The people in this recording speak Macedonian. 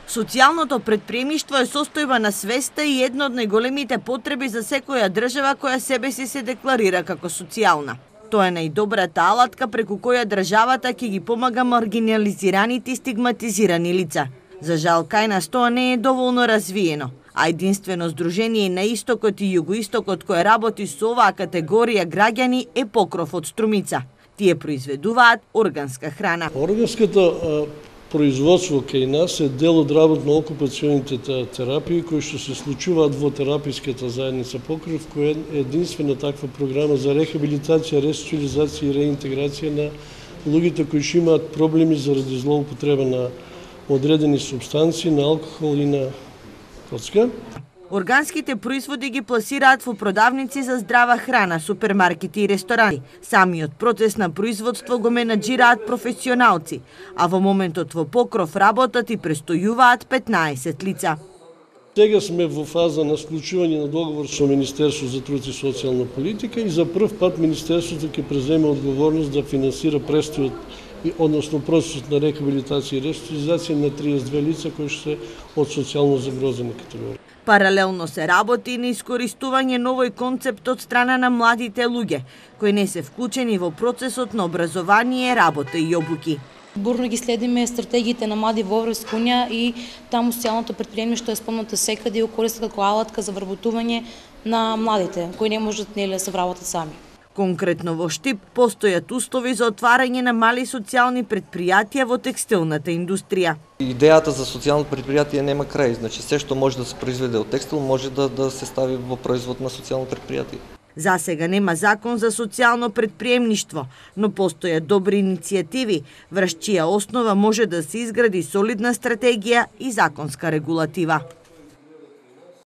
Социјалното претприемништво е состојба на свеста и една од најголемите потреби за секоја држава која себе си се декларира како социјална. Тоа е најдобрата алатка преку која државата ќе ги помага маргинализираните и стигматизирани лица. За жал, кај нас тоа не е доволно развиено, а единствено здружение на Истокот и Југоистокот кое работи со оваа категорија граѓани е Покров од Струмица. Тие произведуваат органска храна. Органската производство кај нас е дел од работно-окупационите терапии кои што се случуваат во тераписката заедница Покров, која е единствена таква програма за рехабилитација, ресоциализација и реинтеграција на луѓето кои што имаат проблеми заради злоупотреба на одредени супстанции, на алкохол и на коцка. Органските производи ги пласираат во продавници за здрава храна, супермаркети и ресторани. Самиот процес на производство го менаџираат професионалци, а во моментот во Покров работат и престојуваат 15 лица. Сега сме во фаза на склучување на договор со Министерството за труд и социјална политика и за прв пат Министерството ќе преземе одговорност да финансира престојот односно процесот на рехабилитација и ресоциализација на 32 лица кои се од социјално загрозени категории. Паралелно се работи и на искористување новој концепт од страна на младите луѓе, кои не се вклучени во процесот на образование, работа и обуки. Бурно ги следиме стратегиите на млади во Европска унија и таму социјалното претприемништво е спомнато секаде и го користат како алатка за вработување на младите, кои не можат да се вработат сами. Конкретно во Штип постојат услови за отварање на мали социјални предпријатија во текстилната индустрија. Идејата за социјално предпријатие нема крај, значи се што може да се произведе од текстил може да се стави во производ на социјално предпријатие. За сега нема закон за социјално претприемништво, но постојат добри иницијативи, врз чија основа може да се изгради солидна стратегија и законска регулатива.